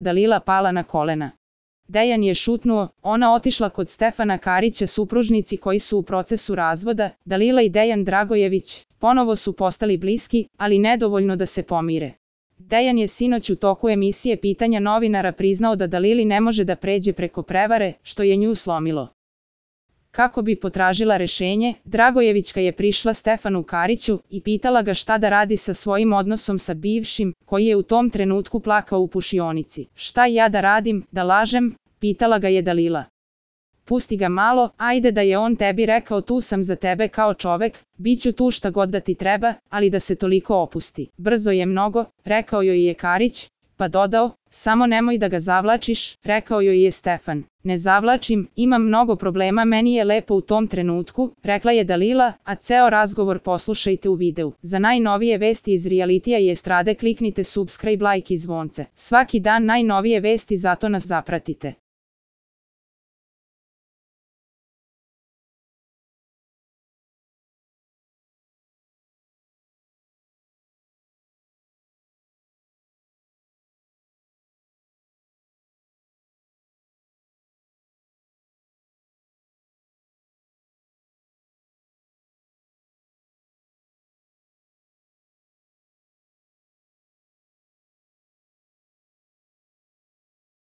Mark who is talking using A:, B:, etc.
A: Dalila pala na kolena. Dejan je šutnuo, ona otišla kod Stefana Karića, supružnici koji su u procesu razvoda. Dalila i Dejan Dragojević ponovo su postali bliski, ali nedovoljno da se pomire. Dejan je sinoć u toku emisije Pitanja novinara priznao da Dalili ne može da pređe preko prevare, što je nju slomilo. Kako bi potražila rešenje, Dragojevićka je prišla Stefanu Kariću i pitala ga šta da radi sa svojim odnosom sa bivšim, koji je u tom trenutku plakao u pušionici. Šta ja da radim, da lažem, pitala ga je Dalila. Pusti ga malo, ajde da je on tebi rekao tu sam za tebe kao čovek, bit ću tu šta god da ti treba, ali da se toliko opusti. Brzo je mnogo, rekao joj je Karić, pa dodao, samo nemoj da ga zavlačiš, rekao joj je Stefan. Ne zavlačim, imam mnogo problema, meni je lepo u tom trenutku, rekla je Dalila, a ceo razgovor poslušajte u videu. Za najnovije vesti iz realitija i estrade kliknite subscribe, like i zvonce. Svaki dan najnovije vesti, zato nas zapratite.